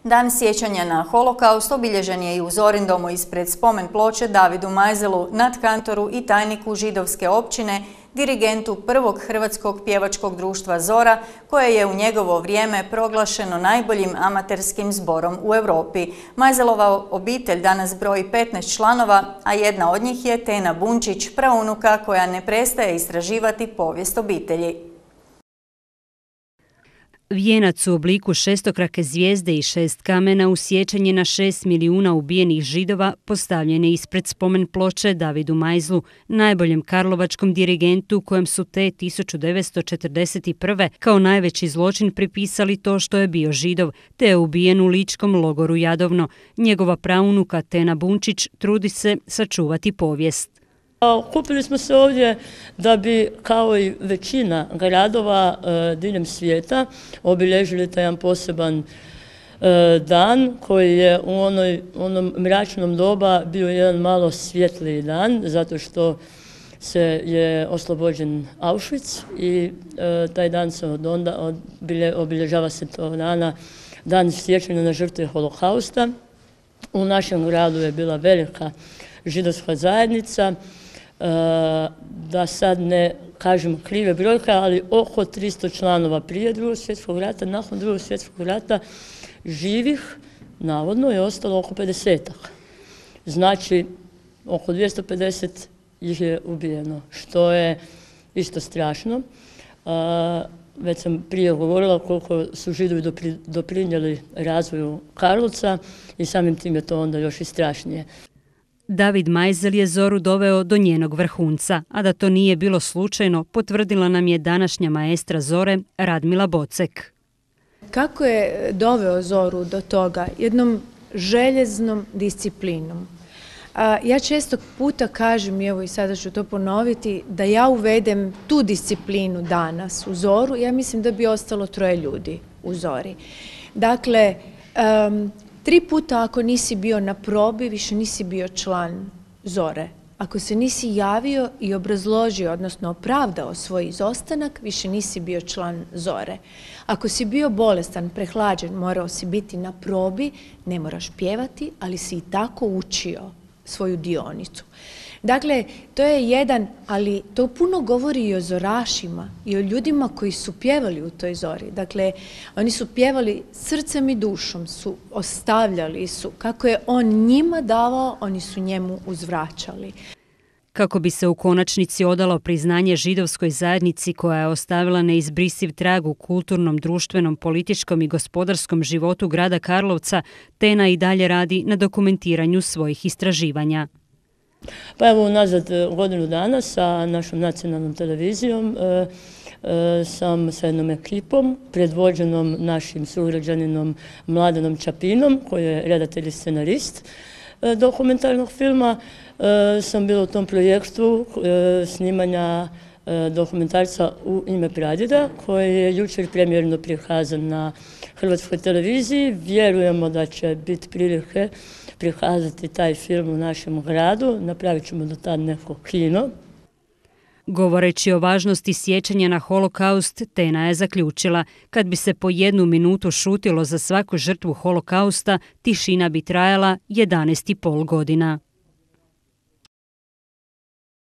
Dan sjećanja na holokaust obilježen je i u Zorindomu ispred spomen ploče Davidu Majzelu, nadkantoru i tajniku židovske općine, dirigentu prvog hrvatskog pjevačkog društva Zora, koje je u njegovo vrijeme proglašeno najboljim amaterskim zborom u Europi. Majzelova obitelj danas broji 15 članova, a jedna od njih je Tena Bunčić, praunuka koja ne prestaje istraživati povijest obitelji. Vijenac u obliku šestokrake zvijezde i 6 kamena u sjećanje na 6 milijuna ubijenih Židova postavljen je ispred spomen ploče Davidu Majzlu, najboljem karlovačkom dirigentu kojem su te 1941. kao najveći zločin pripisali to što je bio Židov, te je ubijen u ličkom logoru Jadovno. Njegova praunuka Tena Bunčić trudi se sačuvati povijest. Okupili smo se ovdje da bi, kao i većina gradova diljem svijeta, obilježili taj jedan poseban dan koji je u onom mračnom doba bio jedan malo svjetliji dan, zato što se je oslobođen Auschwitz i taj dan se obilježava se tog dana, dan sjećanja na žrtve holokausta. U našem gradu je bila velika židovska zajednica, da sad ne kažem krive brojke, ali oko 300 članova prije Drugog svjetskog rata, nakon Drugog svjetskog rata živih, navodno, je ostalo oko 50-ak. Znači, oko 250 ih je ubijeno, što je isto strašno. Već sam prije govorila koliko su Židovi doprinijeli razvoju Karlovca i samim tim je to onda još i strašnije. David Majzel je Zoru doveo do njenog vrhunca, a da to nije bilo slučajno potvrdila nam je današnja maestra Zore Radmila Bocek. Kako je doveo Zoru do toga? Jednom željeznom disciplinom. Ja često puta kažem, evo i sada ću to ponoviti, da ja uvedem tu disciplinu danas u Zoru, ja mislim da bi ostalo 3 ljudi u Zori. Dakle, 3 puta ako nisi bio na probi, više nisi bio član Zore. Ako se nisi javio i obrazložio, odnosno opravdao svoj izostanak, više nisi bio član Zore. Ako si bio bolestan, prehlađen, morao si biti na probi, ne moraš pjevati, ali si i tako učio svoju dionicu. Dakle, to je jedan, ali to puno govori i o zorašima i o ljudima koji su pjevali u toj Zori. Dakle, oni su pjevali srcem i dušom, su ostavljali su. Kako je on njima davao, oni su njemu uzvraćali. Kako bi se u konačnici odalo priznanje židovskoj zajednici koja je ostavila neizbrisiv trag u kulturnom, društvenom, političkom i gospodarskom životu grada Karlovca, Tena i dalje radi na dokumentiranju svojih istraživanja. Pa evo unazad godinu dana sa našom nacionalnom televizijom sam sa jednom ekipom predvođenom našim sugrađaninom Mladenom Čapinom, koji je redatelj i scenarist dokumentarnog filma. Sam bila u tom projektu snimanja dokumentarca U ime pradjeda, koji je jučer premijerno prikazan na Hrvatskoj televiziji. Vjerujemo da će biti prilike prikazati taj film u našem gradu. Napravit ćemo do tad neko kino. Govoreći o važnosti sjećanja na holokaust, Tena je zaključila: kad bi se po 1 minutu šutilo za svaku žrtvu holokausta, tišina bi trajala 11,5 godina.